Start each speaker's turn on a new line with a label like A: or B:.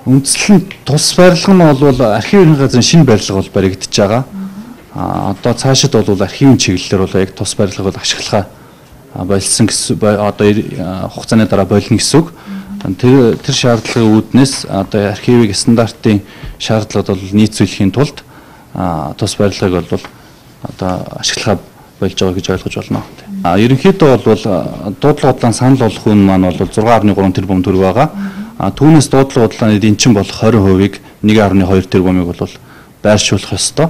A: Үндслэн тус барилга нь бол архивын газрын шинэ барилга бол баригдаж байгаа. Одоо цаашид бол архивын чиглэлээр бол яг тус барилгыг бол ашиглахаа болсон гэсэн одоо хугацааны дараа болно гэсэн үг. Тэр шаардлагын үүднээс одоо архивыг стандартын шаардлагад бол нийцүүлэхийн тулд тус барилгыг бол одоо ашиглахаа болж байгаа гэж ойлгож байна. Ерөнхийдөө бол дуудлага бодлогын санал болгох үн маань бол 6.3 тэрбум төгрөг байгаа. Түүнээс дуудлага бодлогын эдийн чин болох 20%-ийг 1.2 тэрбумыг бол байршуулах ёстой.